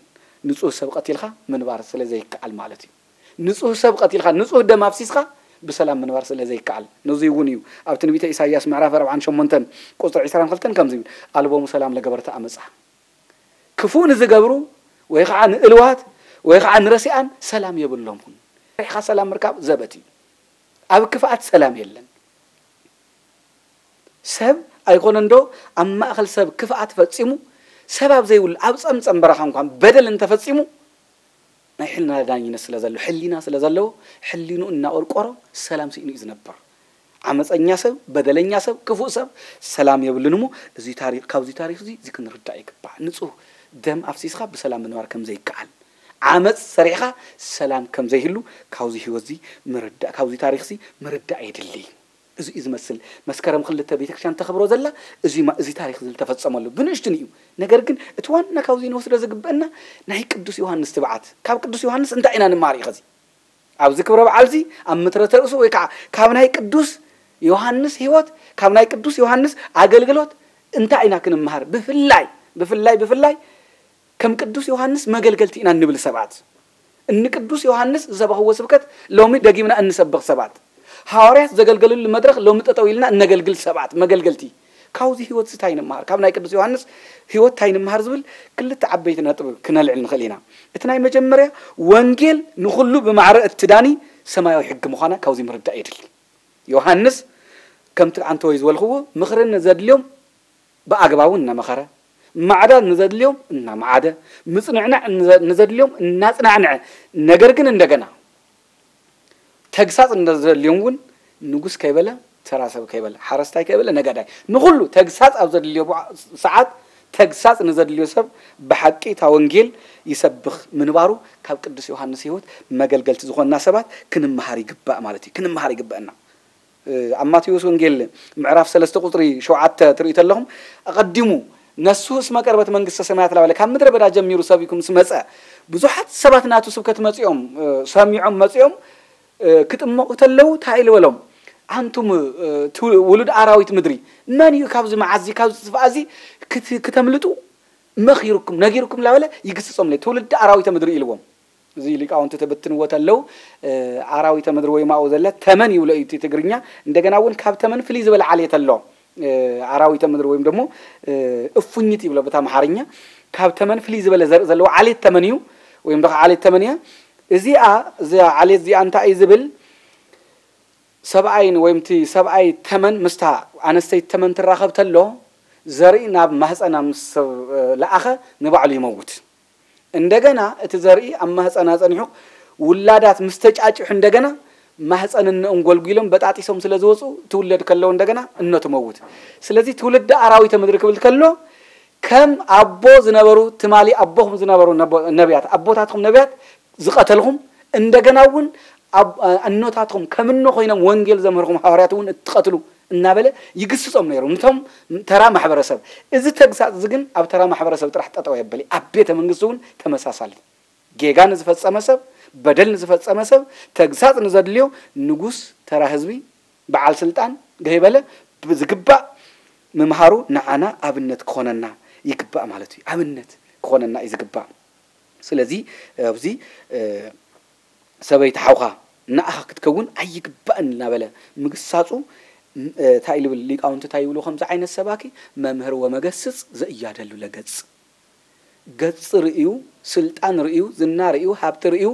ንጹህ ሰብ ቀቲልካ ምንባር ስለ ዘይከኣል ማለት እዩ። ንጹህ ሰብ ቀቲልካ ንጹህ ደም ኣፍሲስካ ብሰላም ምንባር ስለ ዘይከኣል። ነዚ እውን እዩ ኣብ ትንቢተ ኢሳይያስ ምዕራፍ ኣርብዓን ሸሞንተን ቁጽሪ ዕስራን ክልተን ከምዚ ይብል፣ ኣልቦሙ ሰላም ለገበርተ ኣመጻ። ክፉእ ንዝገብሩ ወይ ከዓ ንእልዋት ወይ ከዓ ንረሲኣን ሰላም የብሎምን። ሪሕኻ ሰላም ምርካብ ዘበት እዩ። ኣብ ክፍኣት ሰላም የለን። ሰብ ኣይኮነን ዶ ኣብ ማእኸል ሰብ ክፍኣት ፈጺሙ ሰብ ኣብ ዘይብሉ ኣብ ጸምጸም በረኻ እንኳን በደል እንተፈጺሙ ናይ ሕልና ዳኝነት ስለ ዘሎ ሕሊና ስለ ዘለዎ ሕሊኑ እናቆርቆሮ ሰላም ስኢኑ እዩ ዝነብር። ዓመፀኛ ሰብ በደለኛ ሰብ ክፉእ ሰብ ሰላም የብልን እሞ እዚ ታሪክ ካብዚ ታሪክ እዚ እዚ ክንርዳእ ይግባእ። ንፁህ ደም ኣፍሲስካ ብሰላም ምንባር ከም ዘይከኣል ዓመፅ ሰሪሕካ ሰላም ከም ዘይህሉ ካብዚ ህይወት እዚ ምርዳእ ካብዚ ታሪክ እዚ ምርዳእ የድሊ። እዚ እዩ ዝመስል መስከረም ክልተ ቤተክርስትያን ተኽብሮ ዘላ እዚ ማ- እዚ ታሪክ እዚ ዝተፈፀመሉ ብንእሽቱን እዩ። ነገር ግን እቲ ዋና ካብዚ ንወስዶ ዝግበአና ናይ ቅዱስ ዮሃንስ ትብዓት ካብ ቅዱስ ዮሃንስ እንታይ ኢና ንማር እዩ ኸዚ ኣብዚ ክብረ በዓል እዚ ኣብ ምትረተ ርእሱ ወይ ከዓ ካብ ናይ ቅዱስ ዮሃንስ ህይወት ካብ ናይ ቅዱስ ዮሃንስ ኣገልግሎት እንታይ ኢና ክንምሃር? ብፍላይ ብፍላይ ብፍላይ ከም ቅዱስ ዮሃንስ መገልገልቲ ኢና እንብል ሰባት፣ እኒ ቅዱስ ዮሃንስ ዝሰበኽዎ ስብከት ሎሚ ደጊምና እንሰብኽ ሰባት፣ ሃዋርያት ዘገልገሉሉ መድረኽ ሎሚ ጠጠው ኢልና እነገልግል ሰባት፣ መገልገልቲ። ካብዚ ህይወት እዚ እንታይ ንምሃር? ካብ ናይ ቅዱስ ዮሃንስ ህይወት እንታይ ንምሃር ዝብል ክልተ ዓበይቲ ነጥቢ ክነልዕል ንኽእል ኢና። እቲ ናይ መጀመርያ ወንጌል ንኹሉ ብማዕረ እትዳኒ ሰማያዊ ሕጊ ምዃና ካብዚ ምርዳእ የድሊ። ዮሃንስ ከምቲ ዓንተወይ ዝበልኽዎ ምኽሪ ንዘድልዮም ብኣግባቡ እናመኸረ፣ ማዕዳ ንዘድልዮም እናመዓደ፣ ምጽንዕናዕ ንዘ- ንዘድልዮም እናጽናዕንዐ፣ ነገር ግን እንደገና ተግሳጽ ንዘድልዮም እውን ንጉስ ከይበለ፣ ተራ ሰብ ከይበለ፣ ሓረስታይ ከይበለ፣ ነጋዳይ ንኹሉ ተግሳጽ ኣብ ዘድልዮ ሰዓት ተግሳጽ ንዘድልዮ ሰብ ብሓቂ እታ ወንጌል ይሰብኽ ምንባሩ ካብ ቅዱስ ዮሃንስ ህይወት መገልገልቲ ዝኾንና ሰባት ክንመሃር ይግባእ ማለት እዩ። ክንመሃር ይግበአና። ኣብ ማቴዎስ ወንጌል ምዕራፍ ሰለስተ ቁፅሪ ሸውዓተ ትርእዩ ተለኹም ኣቐዲሙ ነሱ እስመ ቀርበት መንግስተ ሰማያት ላበለ ካብ ምድረ በዳ ጀሚሩ ሰቢኩ ምስ መፀ ብዙሓት ሰባት ናቱ ስብከት መፂኦም ሰሚዖም መፂኦም ክጥመቑ ተለዉ እንታይ ኢሉ በሎም? ኣንቱም ውሉድ ኣራዊት ምድሪ መን እዩ ካብዚ መዓዚ ካብዚ ጥፍኣ እዚ ክተምልጡ መኺርኩም ነጊርኩም ላበለ ይግስጾም ለ ትውልዲ ኣራዊተ ምድሪ ኢልዎም። እዚ ሊቃውንቲ ትብትንዎ ተለው ኣራዊተ ምድሪ ወይ ማኡ ዘለ ተመን ይብሎ እዩ እቲ ትግርኛ። እንደገና እውን ካብ ተመን ፍልይ ዝበለ ዓሌት ኣሎ። ኣራዊተ ምድሪ ወይም ደግሞ እፉኝት ይብሎ ብታ ኣምሓርኛ። ካብ ተመን ፍልይ ዝበለ ዘርኢ ዘለዎ ዓሌት ተመን እዩ ወይም ዶ ዓሌት ተመን እያ። እዚኣ እዚኣ ዓሌት እዚኣ እንታይ እዩ ዝብል? ሰብኣይን ወይም እቲ ሰብኣይ ተመን ምስታ ኣነስተይቲ ተመን ትራኸብ ተሎ ዘርኢ ናብ ማህፀና ምስ ሰብ ለኣኸ ንባዕሉ ይመውት። እንደገና እቲ ዘርኢ ኣብ ማህፀና ፀኒሑ ውላዳት ምስ ተጫጭሑ እንደገና ማህፀን እነኦም ጎልጒሎም በጣጢሶም ስለ ዝወፁ ትውለድ ከለዉ እንደገና እኖ ትመውት። ስለዚ ትውልዲ ኣራዊተ ምድሪ ክብል ከሎ ከም ኣቦ ዝነበሩ ትማሊ ኣቦኹም ዝነበሩ ነቦ- ነቢያት ኣቦታትኩም ነቢያት ዝቐተልኹም እንደገና እውን ኣብ- ኣኖታትኩም ከም እኖ ኮይኖም ወንጌል ዘምህርኩም ሃዋርያት እውን እትቐትሉ እናበለ ይግስጾም ነይሩ። ንቶም ተራ ማሕበረሰብ እዚ ተግሳጽ እዚ ግን ኣብ ተራ ማሕበረሰብ ጥራሕ ጠጠው የበሊ ኣብ ቤተ መንግስቲ እውን ተመሳሳሊ ጌጋ ንዝፈጸመ ሰብ በደል ንዝፈጸመ ሰብ ተግሳጽ ንዘድልዮ ንጉስ ተራ ህዝቢ በዓል ስልጣን ገይበለ ብዝግባእ ምምሃሩ ንዓና ኣብነት ክኾነና ይግባእ ማለት እዩ። ኣብነት ክኾነና እዩ ዝግባእ። ስለዚ ኣብዚ ሰበይቲ ሓውኻ ንኣኻ ክትከውን ኣይግባእን እናበለ ምግሳጹ እንታይ ልብል ሊቃውንቲ እንታይ ይብሉ ከምዚ ዓይነት ሰባኪ መምህር ወመገስጽ ዘእያደሉ ለገጽ ገጽ ርእዩ፣ ስልጣን ርእዩ፣ ዝና ርእዩ፣ ሃብቲ ርእዩ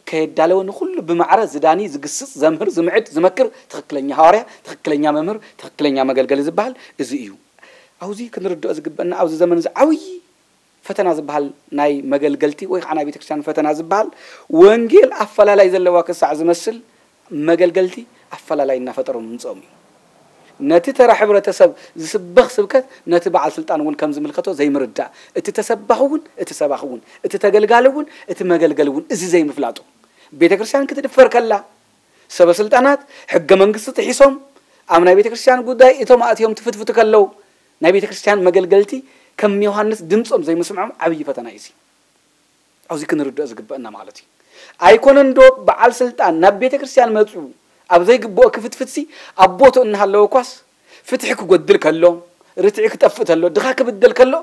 ከየዳለወ ንኹሉ ብማዕረ ዝዳኒ፣ ዝግስጽ፣ ዘምህር፣ ዝምዕድ፣ ዝመክር ትኽክለኛ ሃዋርያ፣ ትኽክለኛ መምህር፣ ትኽክለኛ መገልገሊ ዝበሃል እዚ እዩ። ኣብዚ ክንርድኦ ዝግበአና ኣብዚ ዘመን እዚ ዓብዪ ፈተና ዝበሃል ናይ መገልገልቲ ወይ ከዓ ናይ ቤተክርስትያን ፈተና ዝበሃል ወንጌል ኣፈላላይ ዘለዋ ክሳዕ ዝመስል መገልገልቲ ኣፈላላይ እናፈጠሮም ምምፅኦም እዩ። ነቲ ተራ ሕብረተሰብ ዝስበኽ ስብከት ነቲ በዓል ስልጣን እውን ከም ዝምልከቶ ዘይምርዳእ፣ እቲ ተሰባኺ እውን እቲ ሰባኺ እውን እቲ ተገልጋሊ እውን እቲ መገልገሊ እውን እዚ ዘይምፍላጡ፣ ቤተ ክርስቲያን ክትድፈር ከላ ሰበ ስልጣናት ሕገ መንግስቲ ጥሒሶም ኣብ ናይ ቤተ ክርስቲያን ጉዳይ እቶም ኣእትዮም ትፍትፍቱ ከለዉ ናይ ቤተ ክርስቲያን መገልገልቲ ከም ዮሃንስ ድምፆም ዘይምስምዖም ዓብዪ ፈተና እዩ። ኣብዚ ክንርድኦ ዝግበአና ማለት እዩ። ኣይኮነን ዶ በዓል ስልጣን ናብ ቤተ ክርስቲያን መፁ ኣብ ዘይግብኦ ክፍትፍትሲ ኣብ ቦትኡ እናሃለወ እኳስ ፍትሒ ክጎድል ከሎ፣ ርትዒ ክጠፍእ ተሎ፣ ድኻ ክብደል ከሎ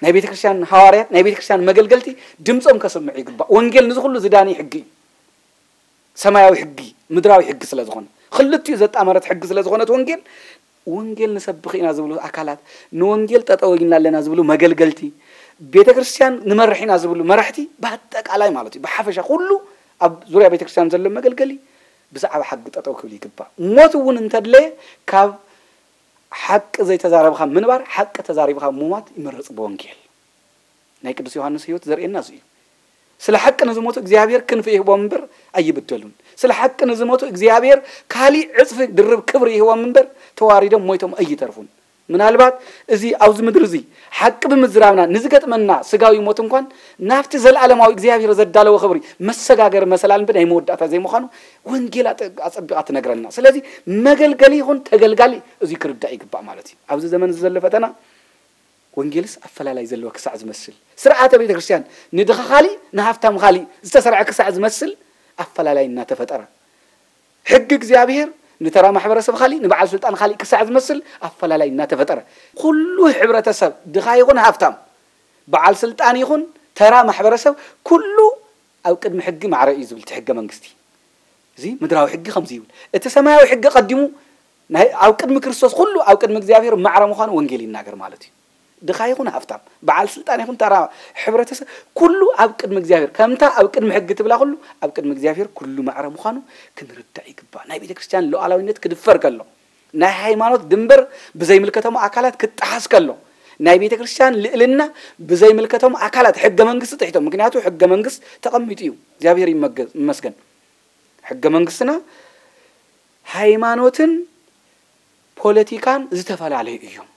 ናይ ቤተ ክርስቲያን ሃዋርያት ናይ ቤተ ክርስቲያን መገልገልቲ ድምፆም ከስምዑ ይግባእ። ወንጌል ንዚ ኩሉ ዝዳኒ ሕጊ እዩ። ሰማያዊ ሕጊ፣ ምድራዊ ሕጊ ስለ ዝኾነ፣ ክልቲኡ ዘጣመረት ሕጊ ስለ ዝኾነት ወንጌል፣ ወንጌል ንሰብኽ ኢና ዝብሉ ኣካላት፣ ንወንጌል ጠጠው ኢልና ኣለና ዝብሉ መገልገልቲ፣ ቤተ ክርስቲያን ንመርሕ ኢና ዝብሉ መራሕቲ፣ ብኣጠቃላይ ማለት እዩ፣ ብሓፈሻ ኩሉ ኣብ ዙርያ ቤተ ክርስቲያን ዘሎ መገልገሊ ብዛዕባ ሓቂ ጠጠው ክብል ይግባእ። ሞት እውን እንተድለየ ካብ ሓቂ ዘይተዛረብኻ ምንባር፣ ሓቂ ተዛሪብኻ ምሟት ይመረጽ ብወንጌል። ናይ ቅዱስ ዮሃንስ ህይወት ዘርእየና እዚ እዩ። ስለ ሓቂ ንዝሞቱ እግዚኣብሔር ክንፊ ይህቦም እምበር ኣይብደሉን። ስለ ሓቂ ንዝሞቱ እግዚኣብሔር ካሊእ ዕጽፊ ድርብ ክብሪ ይህቦም እምበር ተዋሪዶም ሞይቶም ኣይተርፉን። ምናልባት እዚ ኣብዚ ምድሪ እዚ ሓቂ ብምዝራብና ንዝገጥመና ስጋዊ ሞት እንኳን ናብቲ ዘለኣለማዊ እግዚኣብሔር ዘዳለዎ ክብሪ መሰጋገሪ መሰላል እምበር ናይ መወዳእታ ዘይምዃኑ ወንጌል ኣጠ-፣ ኣጸቢቓ ትነግረና። ስለዚ መገልገሊ ይኹን ተገልጋሊ እዚ ክርዳእ ይግባእ ማለት እዩ። ኣብዚ ዘመን እዚ ዘሎ ፈተና ወንጌልስ ኣፈላላይ ዘለዎ ክሳዕ ዝመስል፣ ስርዓተ ቤተ ክርስቲያን ንድኻ ካሊእ ንሃፍታም ካሊእ ዝተሰርዐ ክሳዕ ዝመስል ኣፈላላይ እናተፈጠረ፣ ሕጊ እግዚኣብሔር ንተራ ማሕበረሰብ ካሊእ ንበዓል ስልጣን ካሊእ ክሳዕ ዝመስል ኣፈላላይ እናተፈጠረ፣ ኩሉ ሕብረተሰብ ድኻ ይኹን ሃፍታም፣ በዓል ስልጣን ይኹን ተራ ማሕበረሰብ ኩሉ ኣብ ቅድሚ ሕጊ ማዕረ እዩ ዝብል እቲ ሕገ መንግስቲ። እዚ ምድራዊ ሕጊ ከምዚ ይብል። እቲ ሰማያዊ ሕጊ ቀዲሙ ናይ ኣብ ቅድሚ ክርስቶስ ኩሉ ኣብ ቅድሚ እግዚኣብሔር ማዕረ ምዃኑ ወንጌል ይናገር ማለት እዩ። ድኻ ይኹን ሃፍታም፣ በዓል ስልጣን ይኹን ተራ ሕብረተሰብ ኩሉ ኣብ ቅድሚ እግዚኣብሔር ከምታ ኣብ ቅድሚ ሕጊ ትብላ ኩሉ ኣብ ቅድሚ እግዚኣብሔር ኩሉ ማዕረ ምዃኑ ክንርዳእ ይግባእ። ናይ ቤተ ክርስቲያን ሉዓላዊነት ክድፈር ከሎ፣ ናይ ሃይማኖት ድንበር ብዘይምልከቶም ኣካላት ክጠሓስ ከሎ፣ ናይ ቤተ ክርስቲያን ልዕልና ብዘይምልከቶም ኣካላት ሕገ መንግስቲ ጥሒቶም፣ ምክንያቱ ሕገ መንግስት ተቐሚጡ እዩ። እግዚኣብሔር ይመገ-፣ ይመስገን። ሕገ መንግስትና ሃይማኖትን ፖለቲካን ዝተፈላለዩ እዮም።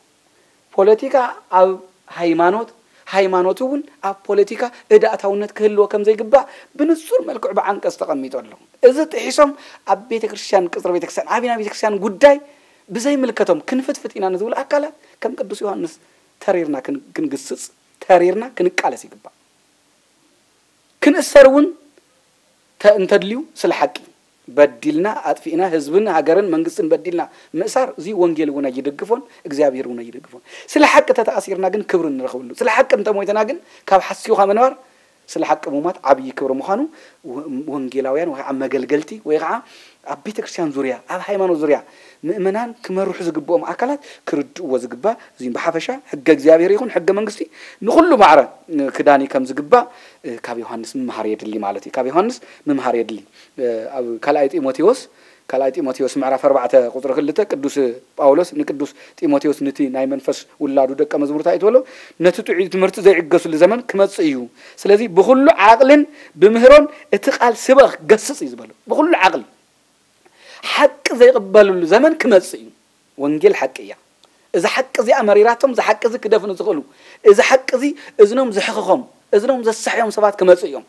ፖለቲካ ኣብ ሃይማኖት፣ ሃይማኖት እውን ኣብ ፖለቲካ እዳእታውነት ክህልዎ ከም ዘይግባእ ብንጹር መልክዑ ብዓንቀጽ ተቐሚጡ ኣሎ። እዚ ጥሒሶም ኣብ ቤተ ክርስቲያን፣ ቅጽሪ ቤተ ክርስቲያን፣ ዓብና ቤተ ክርስቲያን ጉዳይ ብዘይምልከቶም ክንፍትፍት ኢና ንዝብሉ ኣካላት ከም ቅዱስ ዮሃንስ ተሪርና ክን-፣ ክንግስጽ፣ ተሪርና ክንቃለስ ይግባእ። ክንእሰር እውን ተ-፣ እንተድልዩ ስለ ሓቂ በዲልና፣ ኣጥፊእና፣ ህዝብን ሃገርን መንግስትን በዲልና ምእሳር፣ እዚ ወንጌል እውን ኣይድግፎን፣ እግዚኣብሔር እውን ኣይድግፎን። ስለ ሓቂ ተተኣሲርና ግን ክብሪ ንረኽበሉ። ስለ ሓቂ እንተሞይተና ግን ካብ ሓሲውካ ምንባር፣ ስለ ሓቂ ምሟት ዓብዪ ክብሪ ምዃኑ ወ-፣ ወንጌላውያን ወይ ከዓ መገልገልቲ ወይ ከዓ ኣብ ቤተ ክርስቲያን ዙርያ፣ ኣብ ሃይማኖት ዙርያ ምእመናን ክመርሑ ዝግብኦም ኣካላት ክርድእዎ ዝግባእ። እዚ ብሓፈሻ ሕገ እግዚኣብሔር ይኹን ሕገ መንግስቲ ንኹሉ ማዕረ ክዳኒ ከም ዝግባእ ካብ ዮሃንስ ምምሃር የድሊ ማለት እዩ። ካብ ዮሃንስ ምምሃር የድሊ። ኣብ ካልኣይ ጢሞቴዎስ፣ ካልኣይ ጢሞቴዎስ ምዕራፍ ኣርባዕተ ቁጽሪ ክልተ ቅዱስ ጳውሎስ ንቅዱስ ጢሞቴዎስ ንቲ ናይ መንፈስ ውላዱ ደቀ መዝሙርታ እዩ ትበሎ፣ ነቲ ጥዑይ ትምህርቲ ዘይዕገሱሉ ዘመን ክመጽእ እዩ። ስለዚ ብኹሉ ዓቕልን ብምህሮን እቲ ቃል ስበኽ፣ ገስጽ እዩ ዝበሎ። ብኹሉ ዓቕሊ ሓቂ ዘይቕበልሉ ዘመን ክመጽእ እዩ። ወንጌል ሓቂ እያ። እዚ ሓቂ እዚኣ መሪራቶም፣ እዚ ሓቂ እዚ ክደፍኑ ዝኽእሉ፣ እዚ ሓቂ እዚ እዝኖም ዝሕኽኾም፣ እዝኖም ዘሳሕዮም ሰባት ክመጽእ እዮም።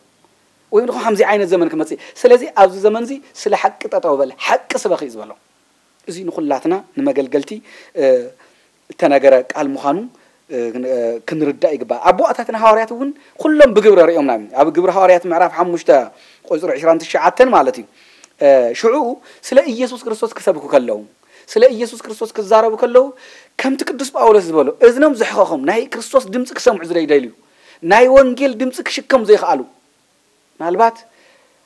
ወይ ድማ ከምዚ ዓይነት ዘመን ክመጽእ እዩ። ስለዚ ኣብዚ ዘመን እዚ ስለ ሓቂ ጠጠው በል፣ ሓቂ ስበኽ እዩ ዝበሎ። እዚ ንኹላትና ንመገልገልቲ፣ እ፣ እተነገረ ቃል ምዃኑ፣ እ፣ ክን-፣ እ፣ ክንርዳእ ይግባእ። ኣቦኣታትና ሃዋርያት እውን ኩሎም ብግብሪ ርእዮምና እዮም። ኣብ ግብሪ ሃዋርያት ምዕራፍ ሓሙሽተ ቁጽሪ ዕስራን ትሽዓተን ማለት እዩ። እ፣ ሽዑ ስለ ኢየሱስ ክርስቶስ ክሰብኩ ከለዉ፣ ስለ ኢየሱስ ክርስቶስ ክዛረቡ ከለዉ፣ ከምቲ ቅዱስ ጳውሎስ ዝበሎ፣ እዝኖም ዝሕኸኾም፣ ናይ ክርስቶስ ድምጺ ክሰምዑ ዘይደልዩ፣ ናይ ወንጌል ድምጺ ክሽከሙ ዘይከኣሉ፣ ምናልባት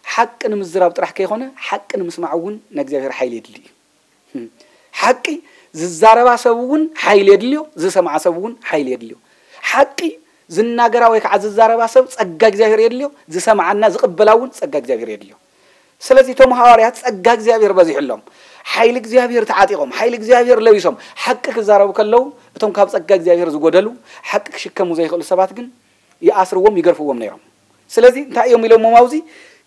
ሓቂ ንምዝራብ ጥራሕ ከይኮነ፣ ሓቂ ንምስማዕ እውን ንእግዚኣብሔር ሓይሊ የድሊ እዩ። ሓቂ ዝዛረባ ሰብ እውን ሓይሊ የድልዮ፣ ዝሰምዓ ሰብ እውን ሓይሊ የድልዮ። ሓቂ ዝናገራ ወይ ከዓ ዝዛረባ ሰብ ጸጋ እግዚኣብሔር የድልዮ፣ ዝሰምዓና ዝቕበላ እውን ጸጋ እግዚኣብሔር የድልዮ። ስለዚ እቶም ሃዋርያት ጸጋ እግዚኣብሔር በዚሕሎም፣ ሓይሊ እግዚኣብሔር ተዓጢቖም፣ ሓይሊ እግዚኣብሔር ለቢሶም ሓቂ ክዛረቡ ከለዉ፣ እቶም ካብ ጸጋ እግዚኣብሔር ዝጎደሉ፣ ሓቂ ክሽከሙ ዘይኽእሉ ሰባት ግን ይኣስርዎም፣ ይገርፍዎም ነይሮም። ስለዚ እንታይ እዮም ኢሎሞም ኣብዚ?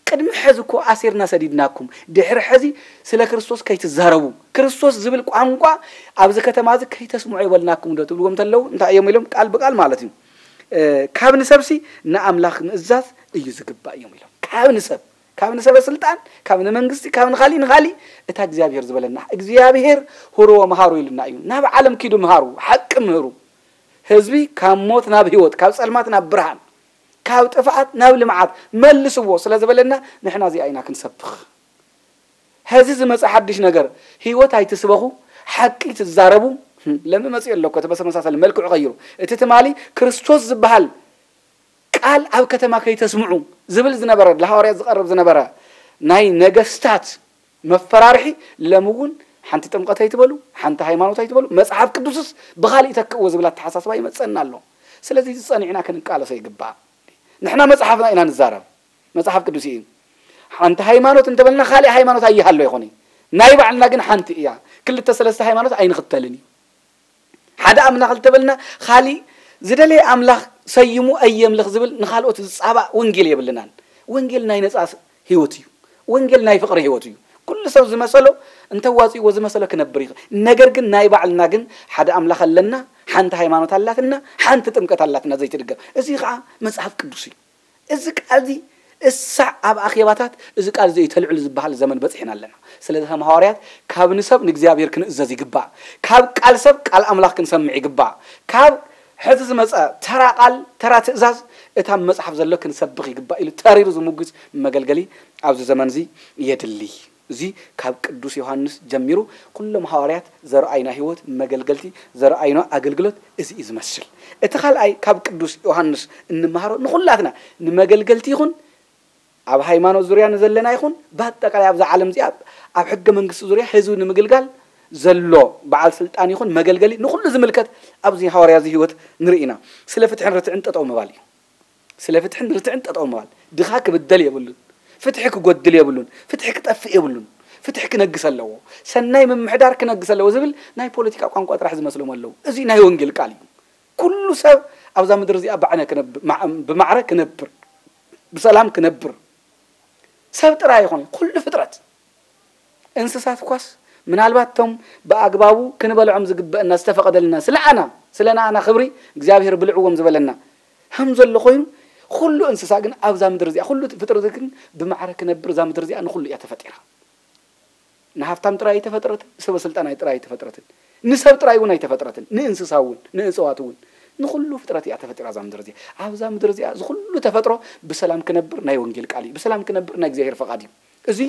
ቅድሚ ሕዚ እኮ ኣሲርና ሰዲድናኩም፣ ድሕሪ ሕዚ ስለ ክርስቶስ ከይትዛረቡ፣ ክርስቶስ ዝብል ቋንቋ ኣብዚ ከተማ እዚ ከይተስምዑ የበልናኩም ዶ ትብልዎም እንተለዉ እንታይ እዮም ኢሎም? ቃል ብቃል ማለት እዩ። እ፣ ካብ ንሰብሲ ንኣምላኽ ምእዛዝ እዩ ዝግባእ እዮም ኢሎም። ካብ ንሰብ፣ ካብ ንሰበ ስልጣን፣ ካብ ንመንግስቲ፣ ካብ ንኻሊእ ንኻሊእ እታ እግዚኣብሔር ዝበለና፣ እግዚኣብሔር ሁርዎ መሃሩ ኢሉና እዩ። ናብ ዓለም ኪዱ ምሃሩ፣ ሓቂ ምህሩ። ህዝቢ ካብ ሞት ናብ ህይወት፣ ካብ ጸልማት ናብ ብርሃን፣ ካብ ጥፍኣት ናብ ልምዓት መልስዎ ስለ ዝበለና ንሕና እዚኣ ኢና ክንሰብኽ። ሕዚ ዝመጽእ ሓድሽ ነገር፣ ህይወት ኣይትስበኹ፣ ሓቂ ትዛረቡ። ለሚ መጽኡ ኣሎ እኮ፣ እቲ በተመሳሳሊ መልክዑ ቀይሩ። እቲ ትማሊ ክርስቶስ ዝበሃል ቃል ኣብ ከተማ ከይተስምዑ ዝብል ዝነበረ፣ ለሃዋርያት ዝቐርብ ዝነበረ ናይ ነገስታት መፈራርሒ፣ ለሚ እውን ሓንቲ ጥምቀት ኣይትበሉ፣ ሓንቲ ሃይማኖት ኣይትበሉ፣ መጽሓፍ ቅዱስስ ብኻሊእ ተክእዎ ዝብል ኣተሓሳስባ ይመጸና ኣሎ። ስለዚ እዚ ጸኒዕና ክንቃለሶ ይግባእ። ንሕና መጽሓፍና ኢና ንዛረብ። መጽሓፍ ቅዱስ እዩ። ሓንቲ ሃይማኖት እንተበልና ካልእ ሃይማኖት ኣይሃሎ ይኾን እዩ። ናይ ባዕልና ግን ሓንቲ እያ። ክልተ ሰለስተ ሃይማኖት ኣይንኽተልን እዩ። ሓደ ኣምላኽ እንተበልና ካልእ ዝደለየ ኣምላኽ ሰይሙ ኣየምልኽ ዝብል ንኻልኦት ዝጻባእ ወንጌል የብልናን። ወንጌል ናይ ነጻ ህይወት እዩ። ወንጌል ናይ ፍቕሪ ህይወት እዩ። ኩሉ ሰብ ዝመሰሎ እንተዋጺእዎ ዝመሰሎ ክነብር ይኽእል። ነገር ግን ናይ ባዕልና ግን ሓደ ኣምላኽ ኣለና፣ ሓንቲ ሃይማኖት ኣላትና፣ ሓንቲ ጥምቀት ኣላትና ዘይትድገም። እዚ ኸዓ መጽሓፍ ቅዱስ እዩ። እዚ ቃል እዚ እሳዕ ኣብ ኣኼባታት እዚ ቃል እዚ እዩ ተልዕሉ ዝበሃል ዘመን በጺሕና ኣለና። ስለዚ ከም ሃዋርያት ካብ ንሰብ ንእግዚኣብሔር ክንእዘዝ ይግባእ። ካብ ቃል ሰብ ቃል ኣምላኽ ክንሰምዕ ይግባእ። ካብ ሕዚ ዝመጸ ተራ ቃል፣ ተራ ትእዛዝ እታ ኣብ መጽሓፍ ዘሎ ክንሰብኽ ይግባእ ኢሉ ተሪሩ ዝምጉት መገልገሊ ኣብዚ ዘመን እዚ የድሊ። እዚ ካብ ቅዱስ ዮሃንስ ጀሚሩ ኩሎም ሃዋርያት ዘርኣይና ህይወት መገልገልቲ፣ ዘርኣይና ኣገልግሎት እዚ እዩ ዝመስል። እቲ ካልኣይ ካብ ቅዱስ ዮሃንስ እንመሃሮ ንኹላትና ንመገልገልቲ ይኹን ኣብ ሃይማኖት ዙርያ ንዘለና ይኹን ብኣጠቃላይ ኣብዛ ዓለም እዚኣ ኣብ ሕገ መንግስቲ ዙርያ ህዝቢ ንምግልጋል ዘሎ በዓል ስልጣን ይኹን መገልገሊ ንኹሉ ዝምልከት ኣብዚ ሃዋርያ እዚ ህይወት ንርኢ ኢና። ስለ ፍትሕን ርትዕን ጠጠው ምባል እዩ። ስለ ፍትሕን ርትዕን ጠጠው ምባል። ድኻ ክብደል የብሉን። ፍትሒ ክጎድል የብሉን። ፍትሒ ክጠፍእ የብሉን። ፍትሒ ክነግስ ኣለዎ። ሰናይ ምምሕዳር ክነግስ ኣለዎ ዝብል ናይ ፖለቲካ ቋንቋ ጥራሕ ዝመስሎም ኣለዉ። እዚ ናይ ወንጌል ቃል እዩ። ኩሉ ሰብ ኣብዛ ምድሪ እዚኣ ባዕነ ክነብ-፣ ማዕ-፣ ብማዕረ ክነብር፣ ብሰላም ክነብር፣ ሰብ ጥራይ ይኹን ኩሉ ፍጥረት፣ እንስሳት እኳስ ምናልባት እቶም ብኣግባቡ ክንበልዖም ዝግበአና ዝተፈቐደልና ስለ ኣና፣ ስለ ንኣና ክብሪ እግዚኣብሔር ብልዕዎም ዝበለና ከም ዘሎ ኮይኑ፣ ኩሉ እንስሳ ግን ኣብዛ ምድሪ እዚኣ፣ ኩሉ ፍጥረት ግን ብማዕረ ክነብር እዛ ምድሪ እዚኣ ንኹሉ እያ ተፈጢራ። ንሃብታም ጥራይ ኣይተፈጥረትን፣ ንሰበ ስልጣን ጥራይ ኣይተፈጥረትን፣ ንሰብ ጥራይ እውን ኣይተፈጥረትን፣ ንእንስሳ እውን፣ ንእፅዋት እውን፣ ንኹሉ ፍጥረት እያ ተፈጢራ እዛ ምድሪ እዚኣ። ኣብዛ ምድሪ እዚኣ እዚ ኩሉ ተፈጥሮ ብሰላም ክነብር ናይ ወንጌል ቃል እዩ። ብሰላም ክነብር ናይ እግዚኣብሔር ፈቓድ እዩ። እዚ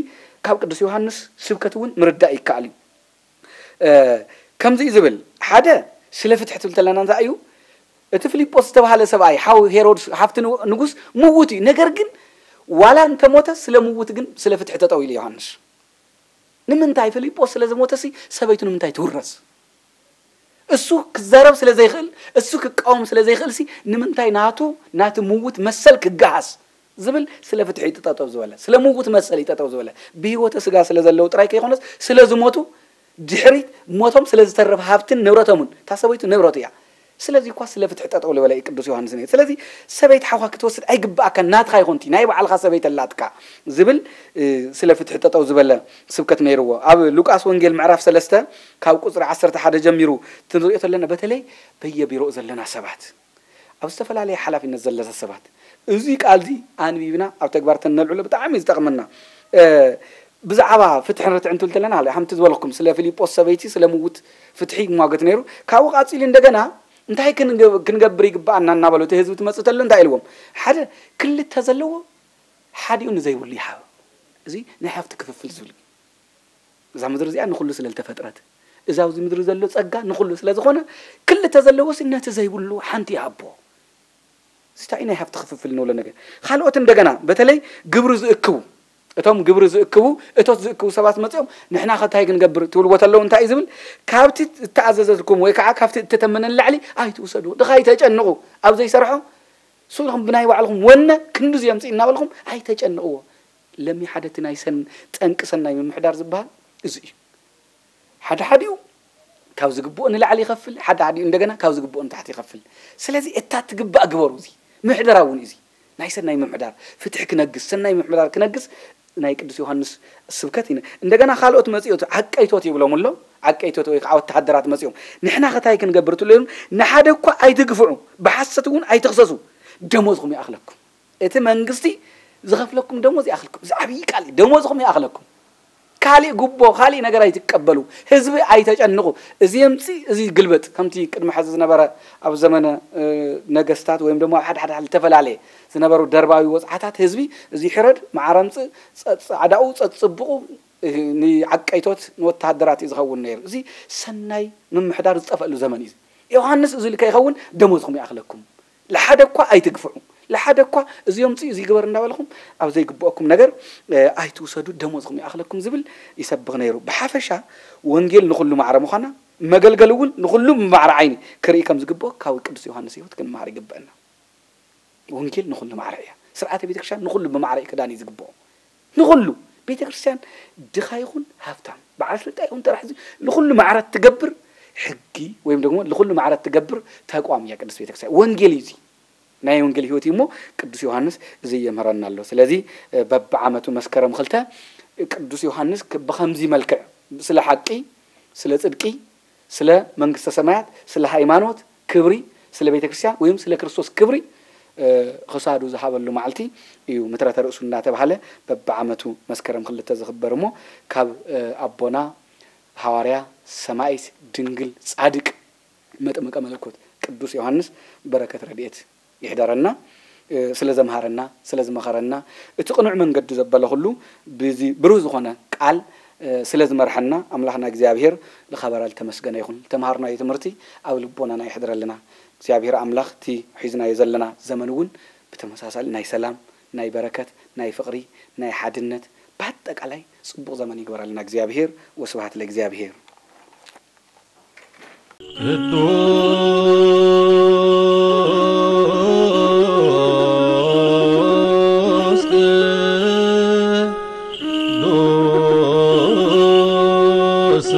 ካብ ቅዱስ ዮሃንስ ስብከት እውን ምርዳእ ይከኣል እዩ። እ፣ ከምዚ እዩ ዝብል፣ ሓደ ስለ ፍትሒ ትብል ተለና እንታይ እዩ? እቲ ፊልጶስ ዝተባህለ ሰብኣይ ሓው ሄሮድስ ሃብቲ ንጉ-፣ ንጉስ ምዉት እዩ። ነገር ግን ዋላ እንተሞተ ስለ ምዉት ግን ስለ ፍትሒ ጠጠው ኢሉ ዮሃንስ። ንምንታይ? ፊልጶስ ስለ ዝሞተሲ ሰበይቱ ንምንታይ ትውረስ? እሱ ክዛረብ ስለ ዘይኽእል፣ እሱ ክቃወም ስለ ዘይኽእልሲ ንምንታይ ናቱ፣ ናቲ ምዉት መሰል ክገሃስ ዝብል ስለ ፍትሒ እዩ ጠጠው ዝበለ፣ ስለ ምዉት መሰል እዩ ጠጠው ዝበለ። ብህይወተ ስጋ ስለ ዘለዉ ጥራይ ከይኮነስ ስለ ዝሞቱ ድሕሪ ሞቶም ስለ ዝተረፈ ሃብትን ንብረቶምን፣ እታ ሰበይቱ ንብረቱ እያ። ስለዚ እኳ ስለ ፍትሒ ጠጠው ዝበለ እዩ ቅዱስ ዮሃንስ ነይሩ። ስለዚ ሰበይቲ ሓውካ ክትወስድ ኣይግብኣካን፣ ናትኻ ይኹን እቲ ናይ ባዕልኻ ሰበይቲ ኣላትካ ዝብል፣ እ፣ ስለ ፍትሒ ጠጠው ዝበለ ስብከት ነይርዎ። ኣብ ሉቃስ ወንጌል ምዕራፍ ሰለስተ ካብ ቁጽሪ ዓሰርተ ሓደ ጀሚሩ ክንሪኦ ተለና፣ በተለይ በየቢሮኡ ዘለና ሰባት፣ ኣብ ዝተፈላለየ ሓላፊነት ዘለሰ ሰባት፣ እዚ ቃል እዚ ኣንቢብና ኣብ ተግባር ተነልዕሎ ብጣዕሚ እዩ ዝጠቕመና። እ፣ ብዛዕባ ፍትሕን ርትዕን ትብል ተለና፣ ሃለ ሓንቲ ዝበልኩም ስለ ፊልጶስ ሰበይቲ ስለ ምውት ፍትሒ ይሟገት ነይሩ። ካብኡ ቃጺሉ እንደገና እንታይ ክንገ-፣ ክንገብር ይግባኣና እናበሉ እቲ ህዝቢ ትመጽእ ተሎ እንታይ ኢልዎም? ሓደ ክልተ ዘለዎ ሓዲኡ ንዘይብሉ ይሃብ። እዚ ናይ ሃብቲ ክፍፍል ዝብል እዩ። እዛ ምድሪ እዚኣ ንኹሉ ስለ ዝተፈጥረት፣ እዛ ኣብዚ ምድሪ ዘሎ ጸጋ ንኹሉ ስለ ዝኾነ፣ ክልተ ዘለዎሲ ነቲ ዘይብሉ ሓንቲ ይሃቦ። እዚ እንታይ ናይ ሃብቲ ክፍፍል ንብሎ ነገር። ካልኦት እንደገና በተለይ ግብሪ ዝእክቡ፣ እቶም ግብሪ ዝእክቡ፣ እቶት ዝእክቡ ሰባት መጺኦም፣ "ንሕና ከ እንታይ ክንገብር?" ትብልዎ ተለዉ እንታይ እዩ ዝብል? "ካብቲ እተኣዘዘልኩም ወይ ከዓ ካብቲ እተተመነ ንላዕሊ ኣይትውሰዱ። ድኻ ኣይተጨንቑ። ኣብ ዘይሰርሖ ስኹም ብናይ ባዕልኹም ወነ ክንድዚ የምፅእ እናበልኹም ኣይተጨንቕዎ። ለሚ ሓደ እቲ ናይ ሰን ጠንቂ ሰናይ ምምሕዳር ዝበሃል እዚ እዩ። ሓደ ሓዲኡ ካብ ዝግብኦ ንላዕሊ ይኸፍል፣ ሓደ ሓዲኡ እንደገና ካብ ዝግብኦ ንታሕቲ ይኸፍል። ስለዚ እታ ትግባእ ግበሩ። እዚ ምሕደራ እውን እዚ ናይ ሰናይ ምምሕዳር ፍትሒ ክነግስ፣ ሰናይ ምምሕዳር ክነግስ ናይ ቅዱስ ዮሃንስ ስብከት እዩ። እንደገና ካልኦት መጺኦት ዓቀይቶት ይብሎም ኣሎ። ዓቀይቶት ወይ ከዓ ወተሃደራት መጺኦም ንሕና ከታይ ክንገብር ትብሉ ኢሎም ንሓደ እኳ ኣይትግፍዑ፣ ብሓሰት እውን ኣይትኽሰሱ፣ ደሞዝኹም ይኣኽለኩም። እቲ መንግስቲ ዝኸፍለኩም ደሞዝ ይኣኽልኩም። እዚ ዓብዪ ቃል እዩ። ደሞዝኹም ይኣኽለኩም። ካሊእ ጉቦ፣ ካሊእ ነገር ኣይትቀበሉ። ህዝቢ ኣይተጨንቑ። እዚ የምፅእ፣ እዚ ግልበጥ። ከምቲ ቅድሚ ሕዚ ዝነበረ ኣብ ዘመነ እ፣ ነገስታት ወይም ደግሞ ኣብ ሓደ ሓደ ዝተፈላለየ ዝነበሩ ደርባዊ ወፅዓታት ህዝቢ እዚ ሕረድ፣ መዓረ ምፅእ፣ ጸ- ጻዕዳኡ፣ ጸጽብቑ እ፣ ንዓቀይቶት ንወተሃደራት እዩ ዝኸውን ነይሩ። እዚ ሰናይ ምምሕዳር ዝጠፈሉ ዘመን እዩ። ዮሃንስ እዚ ከይኸውን ደሞዝኹም ይኣኽለኩም። ለሓደ እኳ ኣይትግፍዑ፣ ለሓደ እኳ እዚ የምፅእ እዚ ግበር እንዳበልኹም ኣብ ዘይግብኦኩም ነገር እ፣ ኣይትውሰዱ፣ ደሞዝኹም ይኣኽለኩም ዝብል ይሰብኽ ነይሩ። ብሓፈሻ ወንጌል ንኹሉ ማዕረ ምዃና፣ መገልገል እውን ንኹሉ ብማዕረ ዓይኒ ክርኢ ከም ዝግብኦ ካብ ቅዱስ ዮሃንስ ህይወት ክንመሃር ይግብአና። ወንጌል ንኹሉ ማዕረ እያ። ስርዓተ ቤተክርስትያን ንኹሉ ብማዕረ እዩ ክዳን እዩ ዝግብኦ። ንኹሉ ቤተክርስትያን ድኻ ይኹን ሃብታም፣ በዓል ስልጣን ይኹን ተራ ሕዚ ንኹሉ ማዕረ ትገብር ሕጊ ወይም ደግሞ ንኹሉ ማዕረ ትገብር ተቋም እያ ቅድስት ቤተክርስትያን። ወንጌል እዩ እዚ። ናይ ወንጌል ህይወት እዩ እሞ ቅዱስ ዮሃንስ እዚ የምህረና ኣሎ። ስለዚ እ፣ በብዓመቱ መስከረም ክልተ ቅዱስ ዮሃንስ ክ- ብኸምዚ መልክዕ ስለ ሓቂ፣ ስለ ጽድቂ፣ ስለ መንግስተ ሰማያት፣ ስለ ሃይማኖት ክብሪ፣ ስለ ቤተ ክርስቲያን ወይም ስለ ክርስቶስ ክብሪ እ፣ ክሳዱ ዝሃበሉ መዓልቲ እዩ። ምትረተ ርእሱ እናተባህለ በብዓመቱ መስከረም ክልተ ዝኽበር እሞ ካብ እ፣ ኣቦና ሃዋርያ ሰማይት ድንግል ጻድቅ መጥምቀ መለኮት ቅዱስ ዮሃንስ በረከት ረድኤት ይሕደረና። እ፣ ስለ ዘምሃረና፣ ስለ ዝመኸረና፣ እቲ ቅኑዕ መንገዲ ዘበለ ኩሉ ብዚ ብሩህ ዝኾነ ቃል እ፣ ስለ ዝመርሐና ኣምላኽና እግዚኣብሔር ልኸበረ ልተመስገነ ይኹን። ዝተምሃርናዮ ትምህርቲ ኣብ ልቦናና ይሕድረልና። እግዚኣብሔር ኣምላኽ እቲ ሒዝናዮ ዘለና ዘመን እውን ብተመሳሳሊ ናይ ሰላም፣ ናይ በረከት፣ ናይ ፍቕሪ፣ ናይ ሓድነት፣ በኣጠቃላይ ጽቡቕ ዘመን ይግበረልና እግዚኣብሔር። ወስብሐት ለእግዚኣብሔር። ቅዱስ ቅዱስ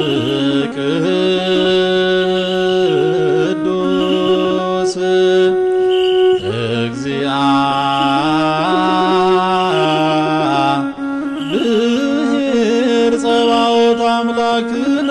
ቅዱስ እግዚአብሔር ጸባኦት አምላክነ።